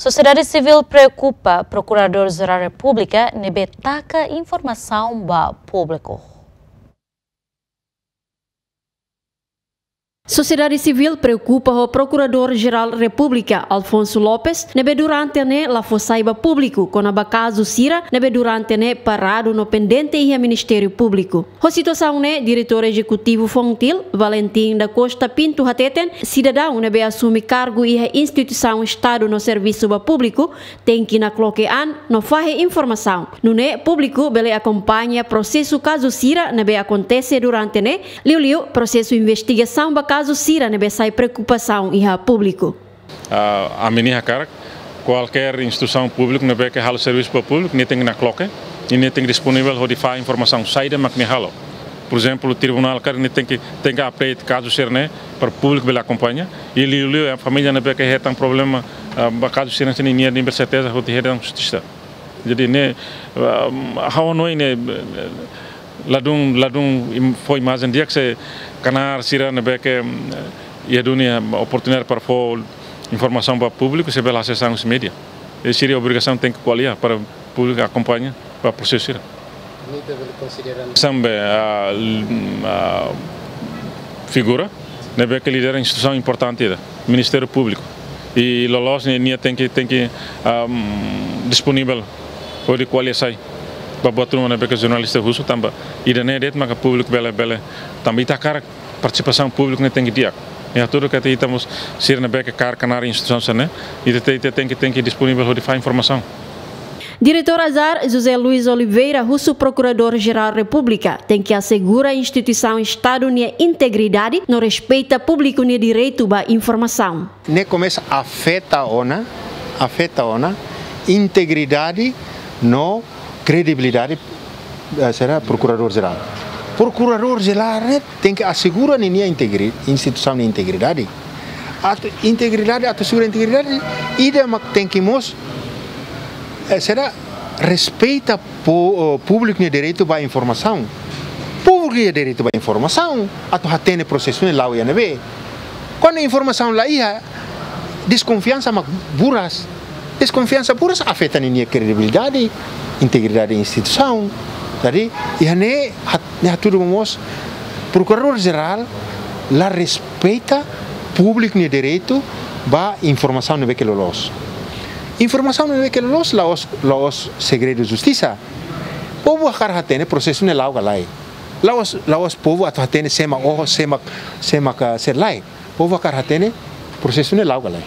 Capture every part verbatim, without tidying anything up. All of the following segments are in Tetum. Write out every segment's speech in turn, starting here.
Sosiedade sivíl preokupa Prokuradór Jerál Repúblika ne'ebé taka informasaun ba públiku. Sosiedade sivíl preokupa ho Prokuradór Jerál Repúblika, Alfonso Lopes, ne'ebé durante ne'e la fó sai ba públiku kona-ba kazu sira ne'ebé durante ne'e paradu no pendente iha Ministériu Públiku. Ho situasaun ne'e, Diretór Ezekutivu FONGTIL, Valentim da Costa Pinto hateten, sidadaun ne'ebé asume kargu iha instituisaun Estadu no servisu ba públiku tenke nakloke an no fahe informasaun. Nune'e públiku bele akompaña prosesu kazu sira ne'ebé akontese durante ne'e, liuliu prosesu investigasaun ba kazu sira ne'ebé sai preokupasaun iha públiku. Ah, ami-nia hakarak, kualkér instituisaun públiku ne'ebé ke halo servisu ba públiku, nia tenke nakloke, i nia tenke disponivel hodi fahe informasaun saida mak nia halo. Por ezemplu, tribunál karik nia tenke, tenke update kazu sira-ne'e para públiku bele akompaña, i liuliu família ne'ebé ke hetan problema, ah, ba kazu sira-ne'e, nia tenke serteza hodi hetan justisa. Jadi ne'e, ah, ha'u hanoin ne'e, eh, ladún, ladún im-, fó imajen di'ak se knaar sira ne'ebé ke, mm, iha duni, eh, oportunidade para fó informasaun ba públiku, sei bele asesu husi média. I sira-nia obrigasaun tenke ko'alia para públiku akompaña ba prosesu sira. Sambe, ah, l-, ah, figura ne'ebé ke lidera instituisaun importante ida, Ministériu Públiku. I loloos ne'e nia tenke, tenke, ahm, disponivel hodi ko'alia sai ba buat ruma ne'ebé ke jornalista husu tanba ida-ne'e de'it maka públiku bele, bele tanba ita hakarak partisipasaun públiku ne'e tenke di'ak. Ita hatudu katak ita mós sira ne'ebé ke kaer knaar instituisaun sira-ne'e, ita te-, ita tenke, tenke disponivel hodi fahe informasaun. Diretór Azar, José Luis Oliveira, husu Prokuradór Jerál Repúblika tenke asegura instituisaun Estadu nia integridade no respeita públiku nia direitu ba informasaun. Ne'e komesa afeta ona, afeta ona integridade no kredibilidade, eh, sira Prokuradór Jerál. Prokuradór Jerál ne'e tenke asegura ninia integri-, instituisaun nia integridade. Atu integridade, atu asegura integridade, ida mak tenke mós, eh, sira respeita po-, eh, públiku nia direitu ba informasaun. Públiku nia direitu ba informasaun, atu hatene prosesu ne'e la'o iha ne'ebé. Kuandu informasaun la iha, deskonfiansa mak buras. Deskonfiansa buras afeta ninia kredibilidade, integridade instituisaun. Jadi, iha ne'e hat-, ne'e hatudu mós Prokuradór Jerál la respeita públiku nia direitu ba informasaun ne'ebé ke loloos. Informasaun ne'ebé ke loloos la'ós, la'ós segredu justisa. Povu hakarak hatene prosesu ne'e la'o ka lae. La'ós, la'ós povu atu hatene sé mak oho, sé mak, sé mak, ah, sé lae. Povu hakarak hatene prosesu ne'e la'o ka lae.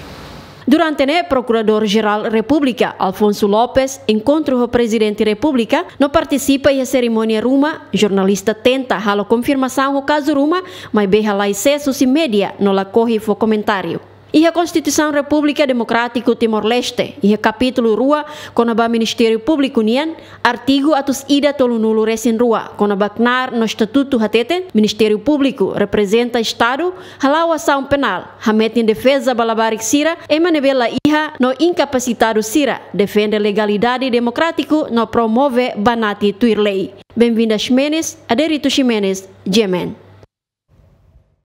Durante ne'e, Prokuradór Jerál Repúblika, Alfonso Lopes, enkontru ho Prezidente Repúblika, no partisipa iha serimónia ruma, jornalista tenta halo konfirmasaun ho kazu ruma, maibé halai sees husi média no lakohi fó komentáriu. Iha Konstituisaun Repúblika Demokrátiku Timor-Leste, iha kapítulu rua kona-ba Ministériu Públiku nian, artigu atus ida tolunulu resin rua kona-ba knaar no estatutu hateten, Ministériu Públiku reprezenta Estadu, hala'o asaun penál, hametin defeza ba labarik sira, ema ne'ebé la iha no inkapasitadu sira, defende legalidade demokrátiku no promove banati tuir lei. Benvinda Ximenes, Aderito Ximenes, G M N.